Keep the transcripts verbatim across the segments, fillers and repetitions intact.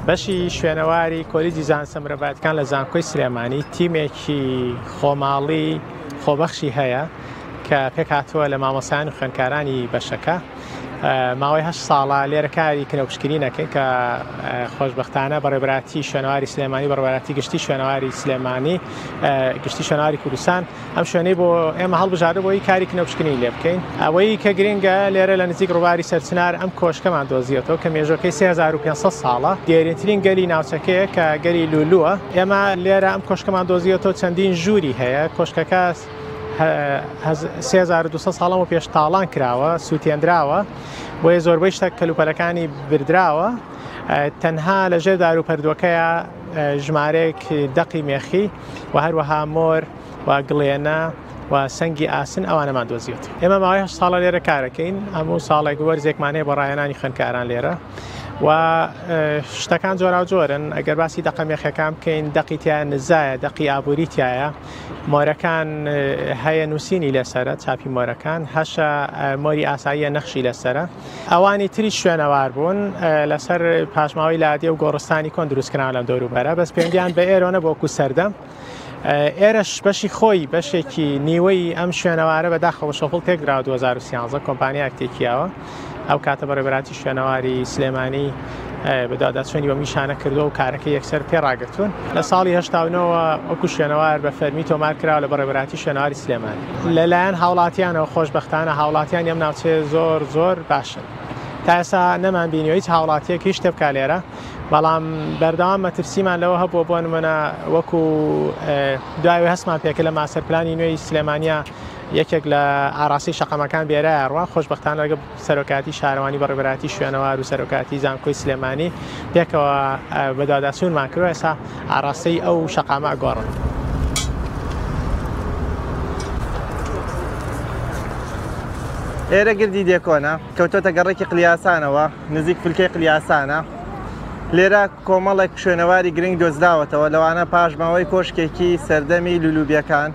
بەشی شوێنەواری کۆلیجی زانستە مرۆڤایەتیەکان لە زانکۆی سلێمانی تیمێکی خۆماڵی خۆبەخشی هەیە کە پێکهاتووە لە مامۆستایان و خوێندکارانی بەشەکە. ماوەی هەشت ساڵە لێرە کاری کنەوپشکنین ئەکەین کە خۆشبەختانە بەڕێوەبەرایەتی شوێنەواری سلێمانی، بەڕێوەبەرایەتی گشتی شوێنەواری سلێمانی، گشتی شوێنەواری کوردستان ئەم شوێنەی بۆ ئێمە هەڵبژاردە بۆی کاری کنەوپشکنین لێ بکەین. ئەوەی کە گرنگە لێرە لە نزیک ڕووباری سەرچنار ئەم کۆشکەمان دۆزیەتەوە کە مێژوەکەی سێ هەزار و پێنج سەد ساڵە، دێرینترین گەلی ناوچەکەیە کە گەلی لولووە. ئێمە لێرە ئەم کۆشکەمان دۆزیەتەوە، چەندین ژووری هەیە. کۆشکەکە سێ هەزار و دوو سەد ساڵەمە پێش تاڵان کراوە، سووتێنراوە، بۆیە زۆربەی شتە کەلوپەلەکانی بردراوە. تەنها لەژێر دار و پەردووەکەیە ژمارەیەک دەقی مێخی و هەروەها مۆر و گڵێنە و سەنگی ئاسن ئەوانەمان دۆزیێت. ئێمە ماوەی هەشت ساڵە لێرە کارەکەین، هەموو ساڵێک وەرزێکمان هەیە بۆ ڕاهێنانی خوێندکاران لێرە و شتەکان جۆراوجۆرن. ئەگەر باسی دەقە مێخەکان بکەین، دەقی تایە نزایە، دەقی ئابووری تایە، مۆرەکان هەیە نووسینی لەسەرە، چاپی مۆرەکان هەشە مۆری ئاساییە نەخشی لەسەرە. ئەوانی تری شوێنەوار بوون لەسەر پاشماوەی لادێ و گۆڕستانی کۆن دروستکراون لەم دەوروبەرە، بەس پەیوەندیان بە ئێرۆ نەبوو وەکو سەردەم. ئێرەش بەشی خۆی بەشێکی نیوەی ئەم شوێنەوارە بەداخەوە شەفڵ تێکدراوە دوو هەزار و سیانزە کۆمپانیایەک تێکیاوە. ئەو کاتە بەڕێوەبەرایەتی شوێنەواری سلێمانی بەدواداچوونی بە میشانە کردووە و کارەکەی یەکسەر پێڕاگرتوون. لە ساڵی هەشتا و نۆوە وەکو شوێنەوار بە فەرمی تۆمار کراوە لە بەڕێوەبەرایەتی شوێنەواری سلێمانی. لەلایەن هاوڵاتیانەوە خۆشبەختانە هاوڵاتیانی ئەم ناوچەیە زۆر زۆر باشن. تا ئێستا نەمان بینیوە هیچ هاوڵاتیەک هیچ شتێ بکا لێرە، بەڵام بەردەوام مەترسیمان لەوە هەبووە. بۆ نمونە وەکو دوایەوەی هەستمان پێکرد لە ماستەر پلانی نوێی سلێمانیا یەکێک لە ئاراسی شەقامەکان بێرایە ڕوا. خۆشبەختانە لەگەڵ سەرۆکاتی شارەوانی بەڕێوەبەرایەتی شوێنەوار و سەرۆکاتی زانکۆی سلێمانی پێکەوە بەدواداچوونمان کردووە، ئێستا ئاراستەی ئەو شەقامە ئەگۆڕن. ئێرە گردی دێکۆنە، کەوتۆتە گەڕێکی قلیاسانەوە، نزیک فلکەی قلیاسانە. لێرە کۆمەڵێک شوێنەواری گرنگ دۆزراوەتەوە، لەوانە پاشماوەی کۆشکێکی سەردەمی لولوبیەکان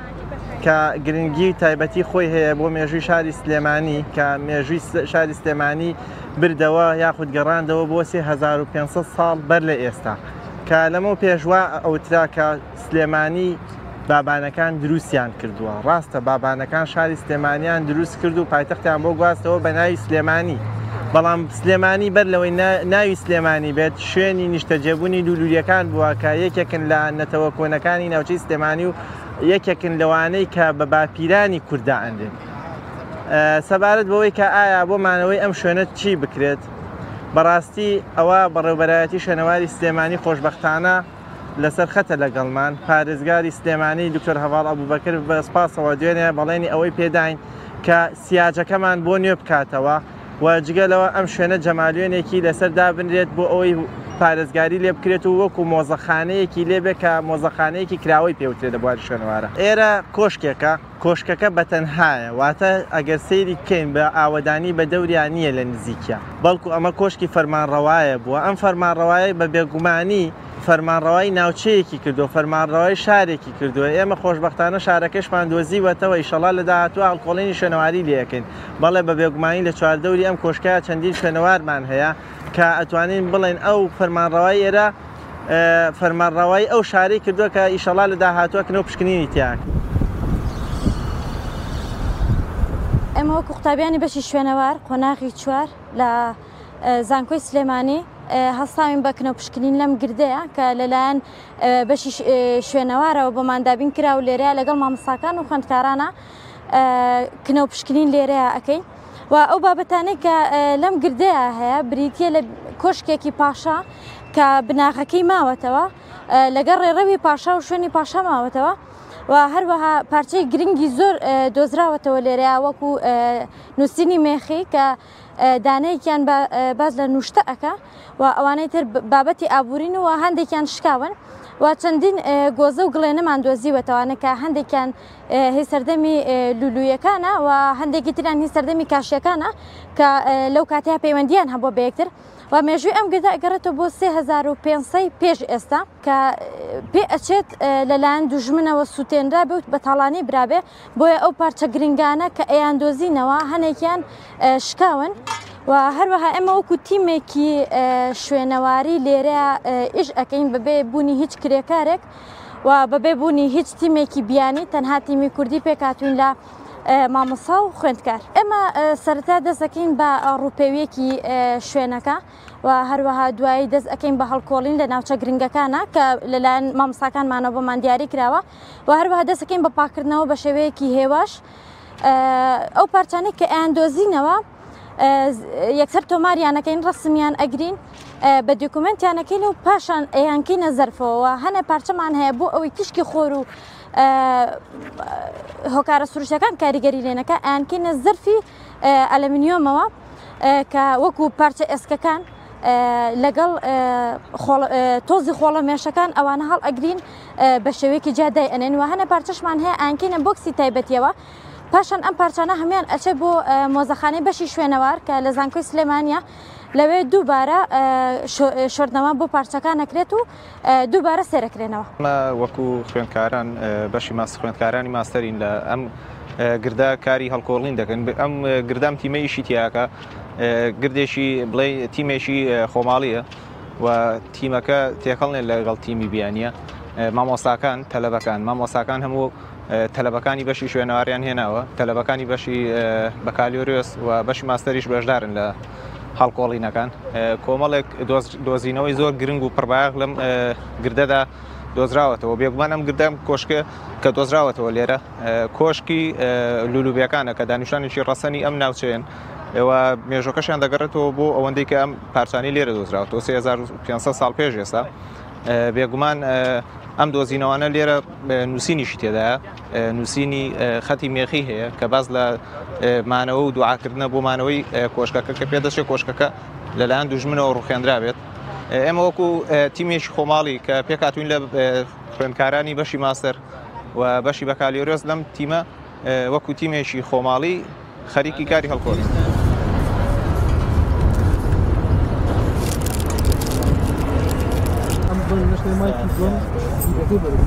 کە گرنگی تایبەتی خۆی هەیە بۆ مێژووی شاری سلێمانی، کە مێژووی شاری سلێمانی بردەوە یاخود گەڕاندەوە بۆ سێ هەزار و پێنج سەد ساڵ بەر لە ئێستا، کە لەمە پێشوا ئەوترا کە سلێمانی بابانەکان دروستیان کردووە. ڕاستە بابانەکان شاری سلێمانیان دروست کرد و پایتەختیان بۆ گواستەوە بە ناوی سلێمانی، بەڵام سلێمانی بەر لەوەی ناوی سلێمانی بێت شوێنی نیشتەجێبوونی لولوریەکان بووە کە یەکێکن لە نەتەوە کۆنەکانی ناوچەی سلێمانی و یەکێکن لەوانەی کە بە باپیرانی کووردا ئەنرێن. سەبارەت بەوەی کە ئایا بۆ مانەوەی ئەم شوێنە چی بکرێت، بەڕاستی ئەوە بەڕێوەبەرایەتی شوێنەواری سلێمانی خۆشبەختانە لەسەر خەتە لەگەڵمان. پارێزگاری سلێمانی دکتۆر هەڤاڵ ئەبوبەکر بە سپاسەوە دوێنێ بەڵێنی ئەوەی پێداین کە سیاجەکەمان بۆ نوێ بکاتەوە و جگە لەوە ئەم شوێنە جەمالیۆنێکی لەسەر دابنرێت بۆ ئەوەی پارێزگاری لێ بکرێت و وەکو مۆزەخانەیەکی لێبێ کە مۆزەخانەیەکی کراوەی پێوترێت لە بواری شوێنەوارە. ئێرە کۆشکێکە، کۆشکەکە بەتەنهایە، واتە ئەگەر سەیری بکەین بە ئاوەدانی بە دەوریان نییە لە نزیکە، بەڵکو ئەمە کۆشکی فەرمانڕەوایە بووە. ئەم فەرمانڕەوایە بە بێگومانی فەرمانڕەوای ناوچەیەکی کردووە، فەرمانڕەوای شارێکی کردووە. ئێمە خۆشبەختانە شارەکەشمان دۆزیوەتەوە، ئیشەڵا لە داهاتوو هەڵکۆڵینی شوێنەواری لێەکەین. بەڵێ بە بێگومانی لە چواردەوری ئەم کۆشکەیە چەندین شوێنەوارمان هەیە کە ئەتوانین بڵێن ئەو فەرمانڕەوای ئێرە فەرمانڕەوای ئەو شارەی کردووە کە ئیشەڵا لە داهاتووە کنەوە پشکنینی تیاک. ئێمە وەکو قوتابیانی بەشی شوێنەوار قۆناغی چوار لە زانکۆی سلێمانی هەستاوین بە کنە پشکنین لەم گردەیە کە لەلایەن بەشی شوێنەوارەوە بۆمان دابین کرا و لێرەیە لەگەڵ مامۆستاکان و خوێندکارانە کنە و پشکنین لێرەیە ئەەکەین. و ئەو بابەتانەی کە لەم گردەیە هەیە بریتیە لە کۆشکێکی پاشا کە بناغەکەی ماوەتەوە، لەگەڵ ڕێڕەوی پاشا و شوێنی پاشا ماوەتەوە و هەروەها پارچەی گرنگی زۆر دۆزراوەتەوە لێرەیە وەکو نووسینی مێخی کە دانەیەکیان باز لە نوشتە ئەکا و ئەوانەی تر بابەتی ئابوورین و هەندێکیان شکاون و چەندین گۆزە و گڵێنەمان دۆزیوەتەوانە کە هەندێکیان هی سەردەمی لولویەکانە و هەندێکی تریان هی سەردەمی کاشیەکانە کە لەو کاتەیە پەیوەندیان هەبووە بە یەکتر. و مێژووی ئەم گردە ئەگەڕێتەوە بۆ سێ هەزار و پێنج سەد پێش ئێستا کە پێ ئەچێت لەلایەن دوژمنەوە سووتێنرا بێ و بە تاڵانی برابێ، بۆیە ئەو پارچە گرنگانە کە ئەیان دۆزینەوە هەنێکیان شکاون. و هەروەها ئێمە وەکو تیمێکی شوێنەواری لێرە ئیش ئەەکەین بەبێ بوونی هیچ کرێکارێک و بەبێ بوونی هیچ تیمێکی بیانی، تەنها تیمی کوردی پێکهاتوین لە مامۆستا و خوێندکار. ئێمە سەرەتا دەست ئەکەین بە ڕووپێویەکی شوێنەکە و هەروەها دوایی دەست ئەەکەین بە هەڵکۆڵین لە ناوچە گرنگەکانە کە لەلایەن مامۆستاکانمانەوە بۆمان دیاری کراوە و هەروەها دەست ئەکەین بە پاکردنەوە بە شێوەیەکی هێواش. ئەو پارچانەی کە ئەیان دۆزینەوە یەکسەر تۆماریانەکەین، ڕسمیان ئەگرین، بە دۆکومنتیانەکەین و پاشان ئەیانکەینە زەرفەوە. هەنە پارچەمان هەیە بۆ ئەوەی تیشکی خۆر و هۆکارە سروشتەکان کاریگەری لێنەکە ئەیانکەینە زەرفی ئەلەمنیۆمەوە کە وەکو پارچە ئێسکەکان لەگەڵ تۆزی خۆڵە مێشەکان ئەوانە هەڵ ئەگرین بە شێوەیەکی جیادای ئەنێن. و هەنە پارچەشمان هەیە ئەیانکەینە بۆکسی تایبەتیەوە. پاشان ئەم پارچانە هەمان ئەچێ بۆ مۆزەخانەی بەشی شوێنەوار کە لە زانکۆی سلێمانیە، لەوێ دووبارە شۆردنەوە بۆ پارچەکان ئەکرێت و دووبارە سێرەکرێنەوە. ئەمە وەکو خوێندکاران بەشی ماس خوێندکارانی ماستەرین لە ئەم گردا کاری هەڵکۆڵین دەکەن. ئەم گردام تیمە ئیشی تیاکە گردێکی بڵێ تیمێکی خۆماڵیە و تیمەکە تێکەڵنێت لەگەڵ تیمی بیانیە. مامۆستاکان تەلەبەکان مامۆستاکان هەموو تەلەبەکانی بەشی شوێنەواریان هێناوە، تەلەبەکانی بەشی بەکالیۆریۆس و بەشی ماستەریش بەشدارن لە هەڵکۆڵینەکان. کۆمەڵێک دۆزینەوەی زۆر گرنگ و پڕبایەخ لەم گردەدا دۆزراوەتەوە. بێگومان ئەم گردەم کۆشکە کە دۆزراوەتەوە لێرە کۆشکی لولوبیەکانە کە دانیشتوانێکی ڕەسەنی ئەم ناوچەیەن ئێوە مێژۆکەشیان دەگەڕێتەوە بۆ ئەوەندەی کە ئەم پارچانی لێرە دۆزراوەتەوە سێ هەزار و پێنج سەد ساڵ پێش ئێستا. بێگومان ئەم دۆزینەوانە لێرە نووسینیشی تێدایە، نووسینی خەتی مێخی هەیە کە باز لە مانەوە و دوعاکردنە بۆ مانەوەی کۆشکەکە کە پێدەچێت کۆشکەکە لەلایەن دوژمنەوە ڕوخێنرابێت. ئێمە وەکو تیمێکی خۆماڵی کە پێکهاتوین لە خوێندکارانی بەشی ماستەر و بەشی بەکالیۆریۆس لەم تیمە وەکو تیمێکی خۆماڵی خەریکی کاری هەڵکۆڵین. مایکی دووەم دیرەکەی بەرز.